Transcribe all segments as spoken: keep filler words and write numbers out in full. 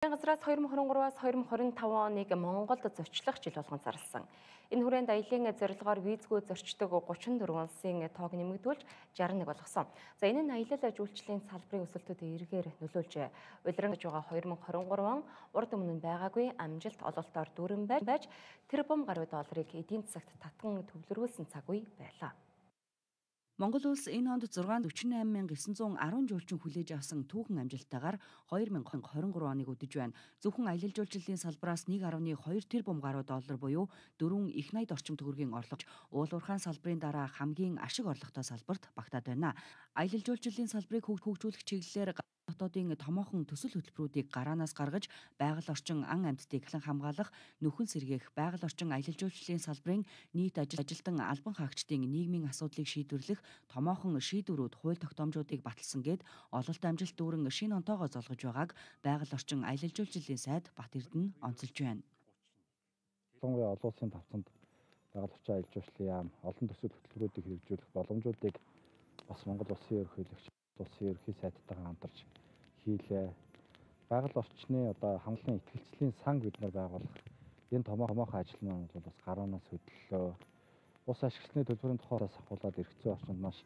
Газраас хоёр мың хорин гураваас хоёр мың хорин таван оныг Монголд зочлох жил болгон зарласан. Энэ хүрээнд аялын зорилгоор визгүй зорчдог гучин дөрвөн улсын тоог нэмэгдүүлж шестьдесят нэг болгосон. За энэ нь аялал жуулчлалын салбарын өсөлтөд эргээр нөлөөлжээ. Улирангаж байгаа хоёр мың хорин гурав урд өмнө нь байгаагүй амжилт ололтоор дүүрэн байж тэрбум гаруй долларыг эдийн засагт татан төвлөрүүлсэн цаг үе байлаа. Монгол улс энэ онд зургаан дөрвөн найман мянга девять жүз десять жуулчин хүлээж авсан түүхэн амжилттайгаар хоёр мың хорин гурав оныг өдөж байна. Зөвхөн аялал жуулчлалын салбараас нэг гаруй хоёр тэрбум гаруй доллар буюу дөрвөн их найд орчим төгрөгийн орлого уул уурхайн салбарын дараа хамгийн ашиг орлоготой салбарт багтаад байна. Аялал жуулчлалын салбарыг хөгжүүлэх чиглэлээр дотоодын томоохон төсөл хөтөлбөрүүдийг гараанаас гаргаж байгаль орчин ан амьтдыг эхлэн хамгаалах, нөхөн сэргээх, байгаль орчин аялал жуулчлалын салбарын нийт ажилтан албан хаагчдын нийгмийн асуудлыг шийдвэрлэх томоохон шийдвэрүүд, хууль тогтоомжуудыг баталсан гээд ололт амжилт дүүрэн шинэ онтоогоо золгож байгааг байгаль орчин аялал жуулчлалын сайд Бат Эрдэнэ онцолж байна. Ялангуяа олон улсын давтамд байгаль орчин аялал жуулчлалын яам олон төсөл хөтөлбөрүүдийг хэрэгжүүлэх боломжуудыг бас Монгол улсын ерөнхийлөгч улсын ерөнхий сайдтайгаа хамтарч хийлээ. Байгаль орчны одоо хамгааллын итгэлцлийн сан бид нар байгуулах энэ томоохон ажил маань бол бас гаруунаас хөдлөлөө. Ус ашигласны төлбөрийн тухайд ахуулаад эрх зүйн орчинд маш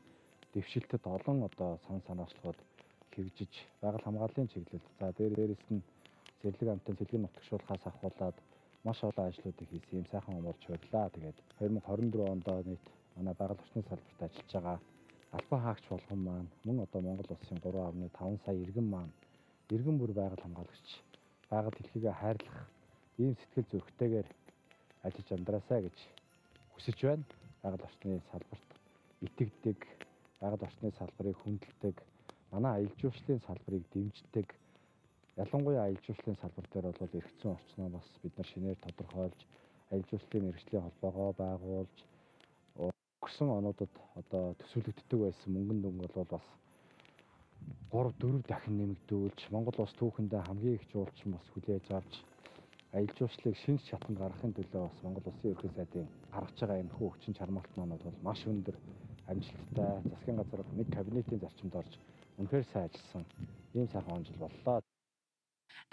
дэвшилтэд олон одоо сан санаачлалууд хэрэгжиж байгаль хамгааллын чиглэлд за дээрээс нь зэрлэг амтын сэлгэн нутагшуулахаас ахуулаад маш олон ажлуудыг хийсэн юм сайхан умарч баярлаа. Тэгээд хоёр мың хорин дөрвөн онд нийт манай байгаль орчны салбарт ажиллаж байгаа албан хаагч болгон маань мөн одоо Монгол улсын гурван амны таван сая иргэн маань иргэн бүр байгаль хамгаалагч байгаль дэлхийгээ хайрлах ийм сэтгэл зүрхтэйгээр ажиллаж амдраасаа гэж хүсэж байна. Байгаль орчны салбарт итгэдэг, байгаль орчны салбарыг хүндэлдэг, манай аялал жуулчлалын салбарыг дэмждэг. Ялангуяа аялал жуулчлалын салбар дээр бол эрх зүйн орчноо бас бид нар шинээр тодорхойлж, аялал жуулчлалын мэргэжлийн холбоогоо байгуулж өнгөрсөн онуудад одоо төсөөлөгддөг байсан мөнгөн дүнг бол бас гурав дөрөв дахин нэмэгдүүлж Монгол улс түүхэндээ хамгийн их жуулчин бас хүлээж авч аялал жуулчлалыг шинж чатанд гаргахын төлөө бас Монгол улсын ерөнхий сайдын гаргаж байгаа энэ хүү хүчин чармаалт маань бол маш өндөр амжилттай засгийн газар нэг кабинетийн зарчимд орж үнэхээр сайн ажилласан ийм сайхан он жил боллоо.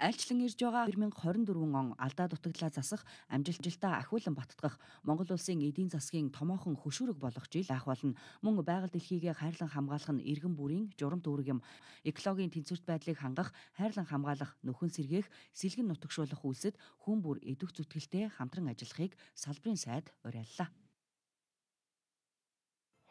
Айлчлан ирж байгаа хоёр мың хорин дөрвөн он алдаа дутагдлаа засах, амжилттай ахиулан баттгах Монгол улсын эдийн засгийн томоохон хөшүүрэг болох жил ах болно. Мөн байгаль дэлхийгээ хайрлан хамгаалах нь иргэн бүрийн журам дүүрэг юм. Экологийн тэнцвэрт байдлыг хангах, хайрлан хамгаалах, нөхөн сэргээх, сэлгэн нутагшуулах үйлсэд хүн бүр эдүх зүтгэлтэй хамтран ажиллахыг салбарын сайд уриаллаа.